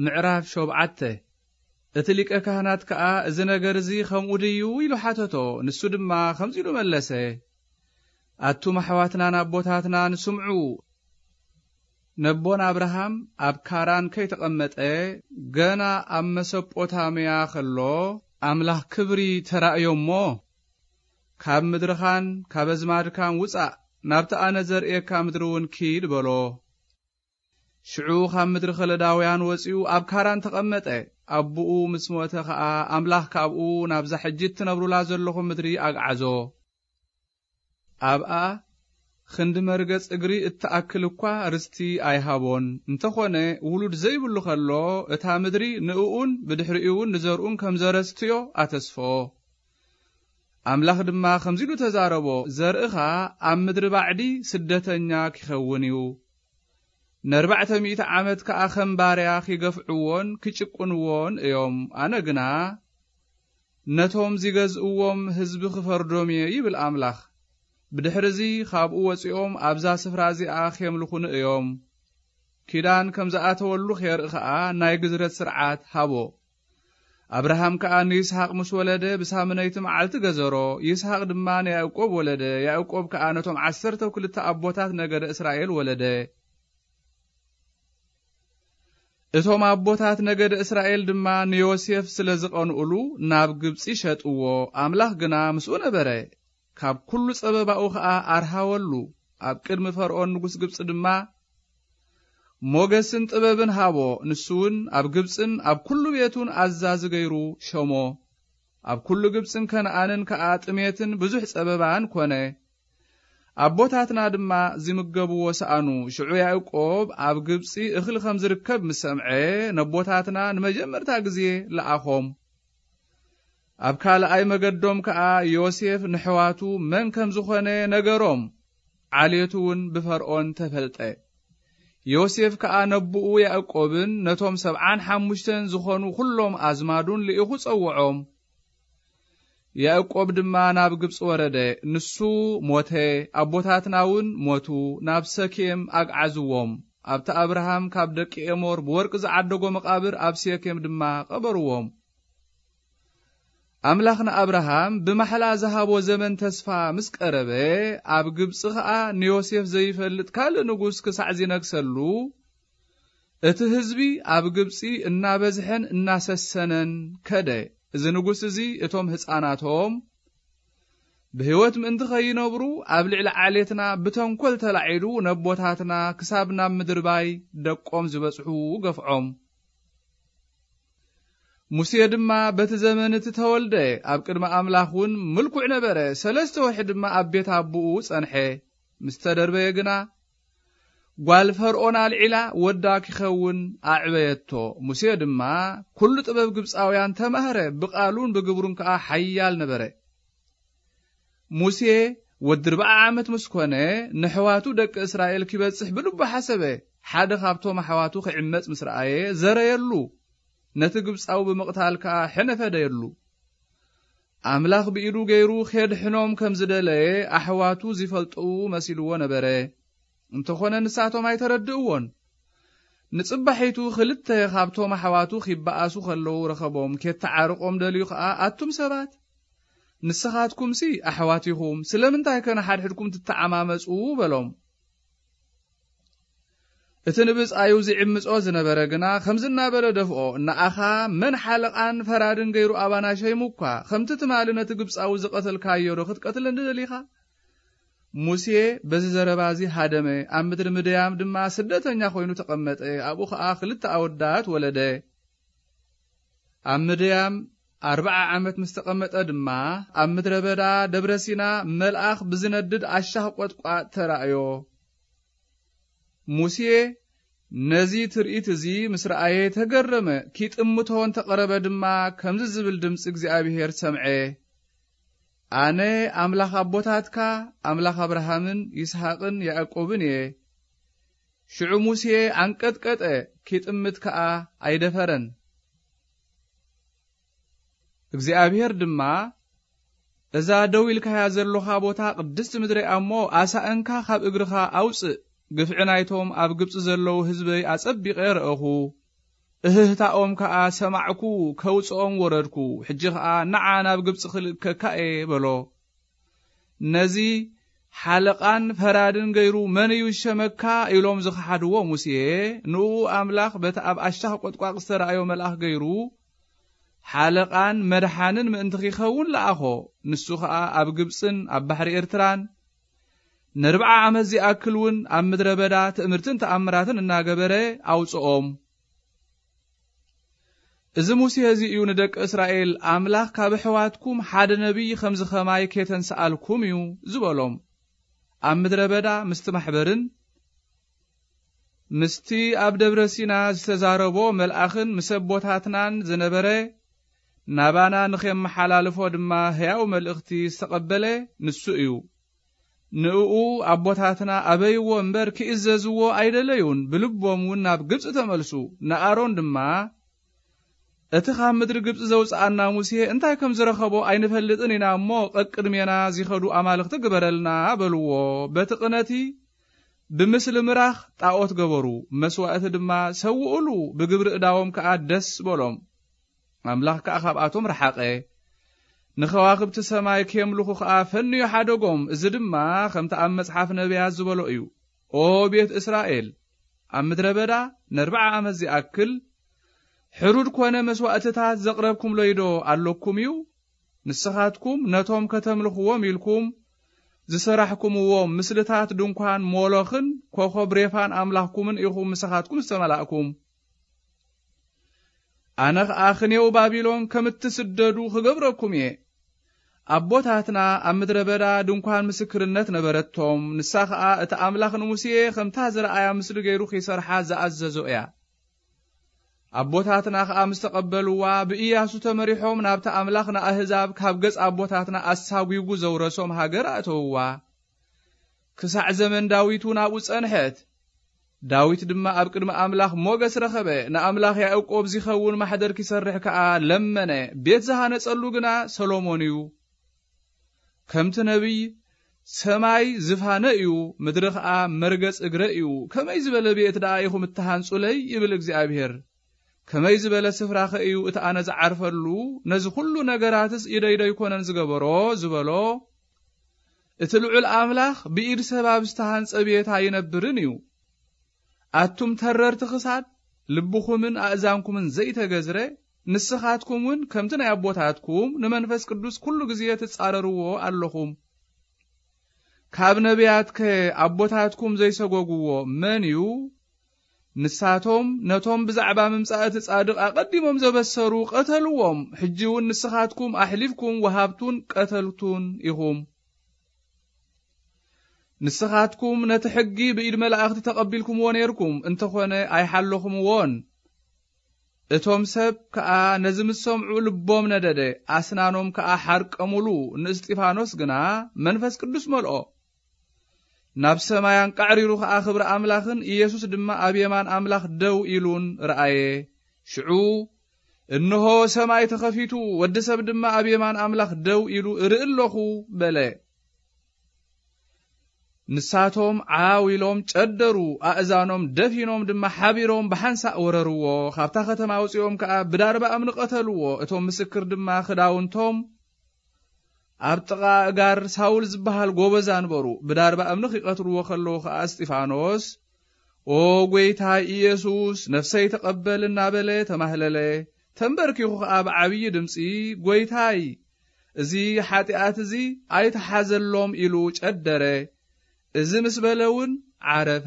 ምዕራፍ ሸውዓተ። እቲ ሊቀ ካህናት ከኣ፣ "እዚ ነገር እዚ ከምኡ ድዩ?" ኢሉ ሓተቶ። ንሱ ድማ ከምዚ ኢሉ መለሰ፣ "ኣቱም ኣሕዋትናን ኣቦታትናን ስምዑ። ነቦን ኣብርሃም ኣብ ካራን ከይተቐመጠ፣ ገና ኣብ መሰጶታምያ ከሎ፣ ኣምላኽ ክብሪ ተራእዮ እሞ፣ 'ካብ ምድርኻን ካብ ኣዝማድካን ውጻእ፣ ናብቲ ኣነ ዘርእየካ ምድሪ እውን ኪድ' በሎ። ሽዑ ካብ ምድሪ ከለዳውያን ወጺኡ ኣብ ካራን ተቐመጠ። ኣቦኡ ምስ ሞተ ኸኣ፣ ኣምላኽ ካብኡ ናብዛ ሕጂ እትነብሩላ ዘለኹም ምድሪ ኣግዓዞ። ኣብኣ ክንዲ መርገጽ እግሪ እትኣክል እኳ ርስቲ ኣይሃቦን። እንተኾነ፣ ውሉድ ዘይብሉ ከሎ፣ እታ ምድሪ ንእኡን ብድሕሪኡ እውን ንዘርኡን ከም ዘረስትዮ ኣተስፍኦ። ኣምላኽ ድማ ከምዚ ኢሉ ተዛረቦ፣ 'ዘርእኻ ኣብ ምድሪ ባዕዲ ስደተኛ ኪኸውን እዩ። ንኣርባዕተ ሚእቲ ዓመት ከኣ ከም ባርያ ኪገፍዕዎን ኪጭቁንዎን እዮም። ኣነ ግና ነቶም ዚገዝእዎም ህዝቢ ክፈርዶም እየ' ይብል ኣምላኽ። 'ብድሕርዚ ካብኡ ወጺኦም ኣብዛ ስፍራ እዚኣ ኬምልኹኒ እዮም። ኪዳን ከም ዝኣተወሉ ኼርኢ ኸኣ ናይ ግዝረት ስርዓት ሃቦ። ኣብርሃም ከኣ ንይስሓቅ ምስ ወለደ፣ ብሳምነይቲ መዓልቲ ገዘሮ። ይስሓቅ ድማ ንያዕቆብ ወለደ። ያዕቆብ ከኣ ነቶም ዓሰርተ ክልተ ኣቦታት ነገደ እስራኤል ወለደ። እቶም ኣቦታት ነገደ እስራኤል ድማ ንዮሴፍ ስለ ዝቐንኡሉ፣ ናብ ግብጺ ሸጥዎ። ኣምላኽ ግና ምስኡ ነበረ። ካብ ኩሉ ጸበባኡ ኸኣ ኣርሃወሉ። ኣብ ቅድሚ ፈርኦን ንጉስ ግብጺ ድማ ሞገስን ጥበብን ሃቦ። ንሱ እውን ኣብ ግብጽን ኣብ ኩሉ ቤቱን ኣዛዚ ገይሩ ሸሞ። ኣብ ኩሉ ግብጽን ከነኣንን ከኣ ጥሜትን ብዙሕ ጸበባን ኮነ። ኣቦታትና ድማ ዚምገብዎ ሰኣኑ። ሽዑ ያዕቆብ ኣብ ግብጺ እኽሊ ከም ዝርከብ ምስ ሰምዐ፣ ነቦታትና ንመጀመርታ ግዜ ለኣኾም። ኣብ ካልኣይ መገዶም ከኣ ዮሴፍ ንሕዋቱ መን ከም ዝኾነ ነገሮም። ዓሌቱ እውን ብፈርኦን ተፈልጠ። ዮሴፍ ከኣ ነቦኡ ያዕቆብን ነቶም ሰብዓን ሓሙሽተን ዝኾኑ ኵሎም ኣዝማዱን ልኢኹ ጸውዖም። ያዕቆብ ድማ ናብ ግብጺ ወረደ። ንሱ ሞተ፣ ኣቦታትና እውን ሞቱ፣ ናብ ሰኬም ኣግዓዝዎም። ኣብቲ ኣብርሃም ካብ ደቂ ኤሞር ብወርቂ ዝዓደጎ መቓብር ኣብ ሴኬም ድማ ቀበርዎም። ኣምላኽ ንኣብርሃም ብማሕላ ዝሃቦ ዘመን ተስፋ ምስ ቀረበ፣ ኣብ ግብጺ ኸኣ ንዮሴፍ ዘይፈልጥ ካልእ ንጉስ ክሳዕ ዚነግሰሉ፣ እቲ ህዝቢ ኣብ ግብጺ እናበዝሐን እናሰሰነን ከደ። እዚ ንጉስ እዚ እቶም ህጻናቶም ብህይወት ምእንቲ ኸይነብሩ፣ ኣብ ልዕሊ ዓሌትና ብተንኮል ተላዒሉ፣ ነቦታትና ክሳብ ናብ ምድርባይ ደቆም ዝበጽሑ ገፍዖም። ሙሴ ድማ በቲ ዘመን እቲ ተወልደ፣ ኣብ ቅድሚ ኣምላኽ እውን ምልኩዕ ነበረ። ሰለስተ ወርሒ ድማ ኣብ ቤት ኣቦኡ ጸንሐ። ምስ ተደርበየ ግና፣ ጓል ፈርኦን ኣልዒላ ወዳ ኪኸውን ኣዕበየቶ። ሙሴ ድማ ኩሉ ጥበብ ግብጻውያን ተማህረ፣ ብቓሉን ብግብሩን ከኣ ሓያል ነበረ። ሙሴ ወዲ ኣርብዓ ዓመት ምስ ኮነ፣ ንኣሕዋቱ ደቂ እስራኤል ኪበጽሕ ብልቡ ሓሰበ። ሓደ ካብቶም ኣሕዋቱ ኺዕመጽ ምስ ረኣየ፣ ዘረየሉ፣ ነቲ ግብጻዊ ብምቕታል ከኣ ሕነ ፈደየሉ። ኣምላኽ ብኢዱ ገይሩ ኼድሕኖም ከም ዝደለየ ኣሕዋቱ ዚፈልጡ መሲልዎ ነበረ። እንተኾነ ንሳቶም ኣይተረድእዎን። ንጽባሒቱ ኽልተ ኻብቶም ኣሕዋቱ ኺበኣሱ ኸለዉ ረኸቦም። ኬተዓርቖም ደልዩ ኸኣ፣ "ኣቱም ሰባት፣ ንስኻትኩምሲ ኣሕዋት ኢኹም፣ ስለምንታይ ከ ንሓድሕድኩም ትተዓማመጹ?" በሎም። እቲ ንብጻዩ ዝዕምጾ ዝነበረ ግና ከምዚ እናበለ ደፍኦ፣ "ንኣኻ መን ሓለቓን ፈራድን ገይሩ ኣባና ሸይሙ እኳ? ከምቲ ትማሊ ነቲ ግብጻዊ ዝቐተልካዮ ዶ ክትቀትለኒ ደሊኻ?" ሙሴ በዚ ዘረባ እዚ ሃደመ፣ ኣብ ምድሪ ምድያም ድማ ስደተኛ ኮይኑ ተቐመጠ። ኣብኡ ኸኣ ክልተ ኣወዳት ወለደ። ኣብ ምድያም ኣርብዓ ዓመት ምስ ተቐመጠ ድማ፣ ኣብ ምድረ በዳ ደብረ ሲና መልኣኽ ብዝነድድ ኣሻኽ ቈጥቋጥ ተራእዮ። ሙሴ ነዚ ትርኢት እዚ ምስ ረኣየ ተገረመ። ኪጥምቶ እንተ ቐረበ ድማ ከምዚ ዝብል ድምጺ እግዚኣብሄር ሰምዐ፣ "ኣነ ኣምላኽ ኣቦታትካ፣ ኣምላኽ ኣብርሃምን ይስሃቅን ያዕቆብን እየ።" ሽዑ ሙሴ ኣንቀጥቀጠ፣ ኪጥምት ከኣ ኣይደፈረን። እግዚኣብሄር ድማ፣ "እዛ ደው ኢልካያ ዘሎኻ ቦታ ቅድስቲ ምድረይ እያ እሞ፣ ኣሳእንካ ካብ እግርኻ ኣውጽእ። ግፍዒ ናይቶም ኣብ ግብጺ ዘለዉ ህዝበይ ኣጸቢቐ ረኣኹ። እህህታኦም ከኣ ሰማዕኩ፣ ከውጽኦም ወረድኩ። ሕጂ ኸኣ ንዓ ናብ ግብጺ ክልእከካ እየ በሎ። ነዚ ሓለቓን ፈራድን ገይሩ መን እዩ ዝሸመካ? ኢሎም ዝኸሓድዎ ሙሴ፣ ንኡ ኣምላኽ በቲ ኣብ ኣሻኽ ቈጥቋቕ ዝተራእዮ መልኣኽ ገይሩ ሓለቓን መድሓንን ምእንቲ ኺኸውን ለኣኾ። ንሱ ኸኣ ኣብ ግብጽን ኣብ ባሕሪ ኤርትራን ነርብዓ ዓመት ዚኣክል እውን ኣብ ምድረ በዳ ትእምርትን ተኣምራትን እናገበረ ኣውጽኦም። እዚ ሙሴ እዚ እዩ ንደቂ እስራኤል፣ ኣምላኽ ካብ ኣሕዋትኩም ሓደ ነቢይ ኸምዚ ኸማይ ኬተንስኣልኩም እዩ ዝበሎም። ኣብ ምድረ በዳ ምስቲ ማሕበርን ምስቲ ኣብ ደብረ ሲና ዝተዛረቦ መልኣኽን ምስ ኣቦታትናን ዝነበረ፣ ናባና ንኼመሓላልፎ ድማ ህያው መልእኽቲ ዝተቐበለ ንሱ እዩ። ንእኡ ኣቦታትና ኣበይዎ እምበር፣ ኪእዘዝዎ ኣይደለዩን፣ ብልቦም እውን ናብ ግብጺ ተመልሱ። ንኣሮን ድማ፣ እቲ ካብ ምድሪ ግብጺ ዘውጽኣና ሙሴ እንታይ ከም ዝረኸቦ ኣይንፈልጥን ኢና እሞ፣ ቀቅድሜና ዚኸዱ ኣማልኽቲ ግበረልና በልዎ። በቲ ቅነቲ ብምስሊ ምራኽ ጣዖት ገበሩ፣ መስዋእቲ ድማ ሰውኡሉ፣ ብግብሪ እዳዎም ከኣ ደስ በሎም። ኣምላኽ ከኣ ካብኣቶም ረሓቐ። ንኸዋኽብቲ ሰማይ ኬምልኹ ኸኣ ፈንዩ ሓደጎም። እዚ ድማ ከምቲ ኣብ መጽሓፍ ነቢያት ዝበሎ እዩ። ኦ ቤት እስራኤል፣ ኣብ ምድረ በዳ ነርብዓ ዓመት ዚኣክል ሕሩድ ኰነ መስዋእትታት ዘቕረብኩምሎይዶ ኣለኩም እዩ? ንስኻትኩም ነቶም ከተምልኽዎም ኢልኩም ዝሰራሕኩምዎም ምስልታት ድንኳን ሞሎኽን ኮኸብ ሬፋን ኣምላኽኩምን ኢኹም ምሳኻትኩም ዝተመላእኩም። ኣነ ኸኣ ኽኔው ባቢሎን ከም እትስደዱ ኽገብረኩም እየ። ኣቦታትና ኣብ ምድረ በዳ ድንኳን ምስክርነት ነበረቶም። ንሳ ኸኣ እቲ ኣምላኽ ንሙሴ ኸምታ ዝረኣያ ምስሊ ገይሩ ኺሰርሓ ዝኣዘዞ እያ። ኣቦታትና ኸኣ ምስ ተቐበልዋ፣ ብኢያሱ ተመሪሖም ናብቲ ኣምላኽ ንኣህዛብ ካብ ገጽ ኣቦታትና ኣሳጒጉ ዘውረሶም ሃገር ኣእተውዋ። ክሳዕ ዘመን ዳዊት እውን ኣብኡ ጸንሐት። ዳዊት ድማ ኣብ ቅድሚ ኣምላኽ ሞገስ ረኸበ። ንኣምላኽ ያዕቆብ ዚኸውን ማሕደር ኪሰርሕ ከኣ ለመነ። ቤት ዝሃነጸሉ ግና ሰሎሞን እዩ። ከምቲ ነቢይ፣ "ሰማይ ዝፋነ እዩ፣ ምድሪ ኸኣ መርገጽ እግረ እዩ። ከመይ ዝበለ ቤት ደኣ ኢኹም እትሃንጹለይ?" ይብል እግዚኣብሄር። "ከመይ ዝበለ ስፍራኸ እዩ እቲ ኣነ ዝዓርፈሉ? ነዚ ኹሉ ነገራትስ ኢደይ ዶ ኣይኮነን ዝገበሮ?" ዝበሎ፣ እቲ ልዑል ኣምላኽ ብኢድ ሰብ ኣብ ዝተሃንጸ ቤት ኣይነብርን እዩ። ኣቱም ተረርቲ ክሳድ፣ ልብኹምን ኣእዛንኩምን ዘይተገዝረ፣ ንስኻትኩም እውን ከምቲ ናይ ኣቦታትኩም ንመንፈስ ቅዱስ ኩሉ ግዜ ትጻረርዎ ኣለኹም። ካብ ነቢያትከ ኣቦታትኩም ዘይሰጎግዎ መን እዩ? ንሳቶም ነቶም ብዛዕባ ምምጻእ እቲ ጻድቕ ኣቐዲሞም ዘበሰሩ ቀተልዎም። ሕጂ እውን ንስኻትኩም ኣሕሊፍኩም ወሃብቱን ቀተልቱን ኢኹም። ንስኻትኩም ነቲ ሕጊ ብኢድ መላእኽቲ ተቐቢልኩምዎ ነይርኩም፣ እንተኾነ ኣይሓለኹምዎን። እቶም ሰብ ከኣ ነዚ ምስ ሰምዑ ልቦም ነደደ፣ ኣስናኖም ከኣ ሓርቀሙሉ። ንእስጢፋኖስ ግና መንፈስ ቅዱስ መልኦ። ናብ ሰማይ ኣንቃዕሪሩ ኸኣ ክብሪ ኣምላኽን ኢየሱስ ድማ ኣብ የማን ኣምላኽ ደው ኢሉን ረኣየ። ሽዑ፣ "እንሆ ሰማይ ተኸፊቱ፣ ወዲ ሰብ ድማ ኣብ የማን ኣምላኽ ደው ኢሉ እርኢ ኣለኹ" በለ። ንሳቶም ዓው ኢሎም ጨደሩ፣ ኣእዛኖም ደፊኖም ድማ ሓቢሮም ብሓንሳእ ወረርዎ። ካብታ ከተማ ኣውጺኦም ከኣ ብዳርባ እምኒ ቀተልዎ። እቶም ምስክር ድማ ክዳውንቶም ኣብ ጥቓ ኣእጋር ሳውል ዝበሃል ጎበዝ ኣንበሩ። ብዳርባ እምኒ ኺቐትልዎ ኸለዉ ኸኣ እስጢፋኖስ፣ "ኦ ጐይታ ኢየሱስ፣ ነፍሰይ ተቐበል" እናበለ ተማህለለ። ተንበርኪኹ ኸኣ ብዓብዪ ድምጺ፣ "ጐይታይ፣ እዚ ሓጢኣት እዚ ኣይትሓዘሎም" ኢሉ ጨደረ። እዚ ምስ በለ እውን ዓረፈ።